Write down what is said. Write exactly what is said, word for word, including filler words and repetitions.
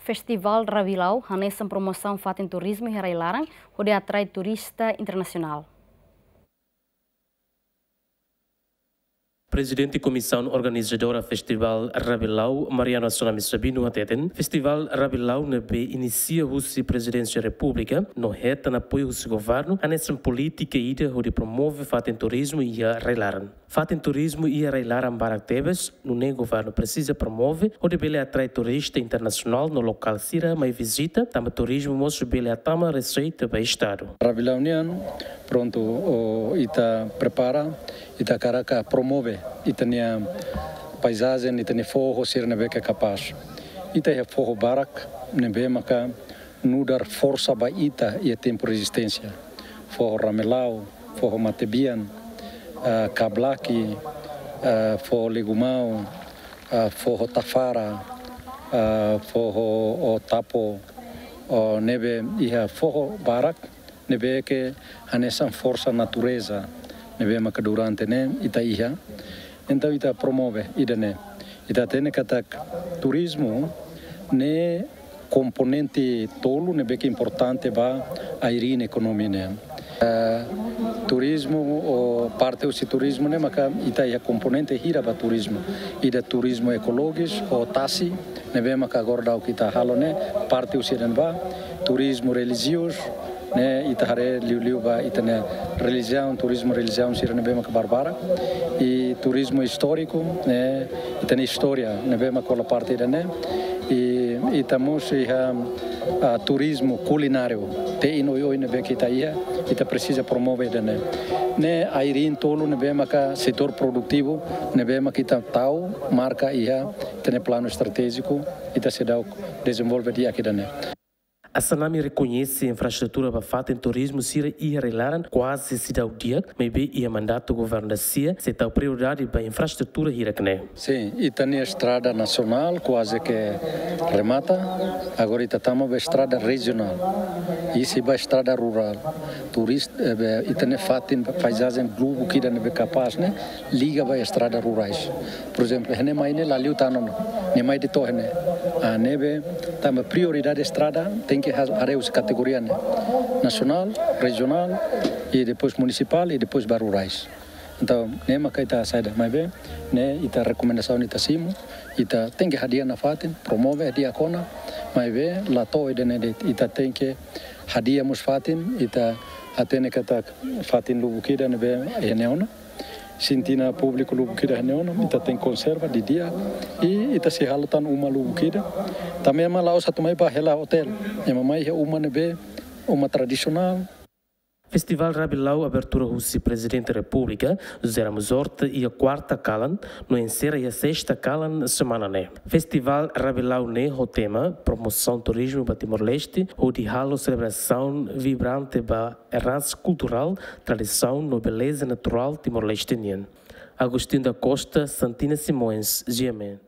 Festivál Rabilau hanesan promosaun fatin turizmu iha rai-laran hodi atrai turista internasionál. Prezidente Komisaun Organizadora Festivál Rabilau, Mariano Assunami Sabino hateten, Festivál Rabilau ne'ebé inisia husi Prezidénsia Repúblika no hetan apoiu husi governu, hanesan polítika ida hodi promove fatin turizmu iha rai-laran. Fatin turizmu iha rai-laran barak tebes, nune'e governu presiza promove hodi bele atrai turista internasionál no lokál sira mai vizita, tanba turizmu mós bele hatama reseita ba estadu. Rabilau nian, prontu, o, ita prepara, ita hakarak promove ita-nia paizajen, ita-nia foho sira ne'ebé ke kapás. Ita iha foho barak ne'ebé maka nu'udar forsa ba ita iha tempu rezisténsia. Foho Ramelau, foho Matebian, ah, Kablaki, ah, foho Legumau, ah, foho Tafara, ah, foho, o, Tapo, o, ne'ebé iha foho barak ne'ebé ke hanesan forsa natureza ne'ebé maka durante ne'e ita iha. Entaun ita promove ida-ne'e. Ita hatene katak turizmu ne'e komponente tolu ne'ebé ke importante ba ai-riin ekonomia nian. Eh, turizmu, o parte husi turizmu ne'e maka ita iha komponente hira ba turizmu. Ida turizmu ekologis, o tasi, ne'ebé maka agora daudauk ita halo ne'e, parte husi ida-ne'ebá, turizmu relijiozu, ne'e ita haree liuliu ba ita-nia relijiaun, turizmu relijiaun sira ne'ebé maka barbarak, i turizmu istóriku, ne'e ita-nia istória ne'ebé maka hola parte ida-ne'e, i ita mós iha, ah, turizmu kulináriu, te'in oioin ne'ebé ke ita iha, ita presiza promove ida-ne'e. Ne'e ai-riin tolu ne'ebé maka setór produtivu, ne'ebé maka ita tau, marka iha, ita-nia planu estratéjiku, ita seidauk dezenvolve di'ak ida-ne'e. Assunami rekoñese infraestrutura ba fatin turizmu sira iha rai-laran kuaze seidauk di'ak, maibé iha mandatu governu da-sia sei tau prioridade ba infraestrutura hirak ne'e. Sin, ita-nia estrada nasionál kuaze ke remata, agora ita tama ba estrada rejionál, i sei ba estrada rurál. Turis-, eh, be, ita-nia fatin paizajen lubuk ida ne'ebé kapás ne'e liga ba estrada rurais. Por ezemplu, iha ne'e mai ne'e la liu tanun, ne'e mai de'it to'o iha ne'e. Ah, ne'ebé, tanba prioridade estrada tenke ha-, haree husi kategoria ne'e. Nasionál, rejionál, i depois munisipál, i depois ba rurais. Entaun, ne'e maka ita saida, maibé, ne'e ita rekomendasaun ita simu, ita tenke hadi'a nafatin, promove hadi'a kona, maibé, la to'o ida-ne'e de'it, ita tenke hadi'a mós fatin, ita hatene katak fatin lubuk ida ne'ebé iha ne'e ona. Sintina públiku lubuk ida iha ne'e ona, ita tenke konserva didi'ak, i ita sei halo tan uma lubuk ida. Tanba ema la'ós atu mai ba hela otél, ema mai iha uma ne'ebé, uma tradisionál. Festivál Rabilau abertura husi Prezidente Repúblika, José Ramos Horta, iha kuarta kalan, no enserra iha sesta kalan semana ne'e. Festivál Rabilau ne'e ho tema Promosaun Turizmu ba Timor-Leste, hodi halo selebrasaun vibrante ba eransa kulturál, tradisaun no beleza naturál Timor-Leste nian. Agostinho da Costa, Santina Simões, G M N.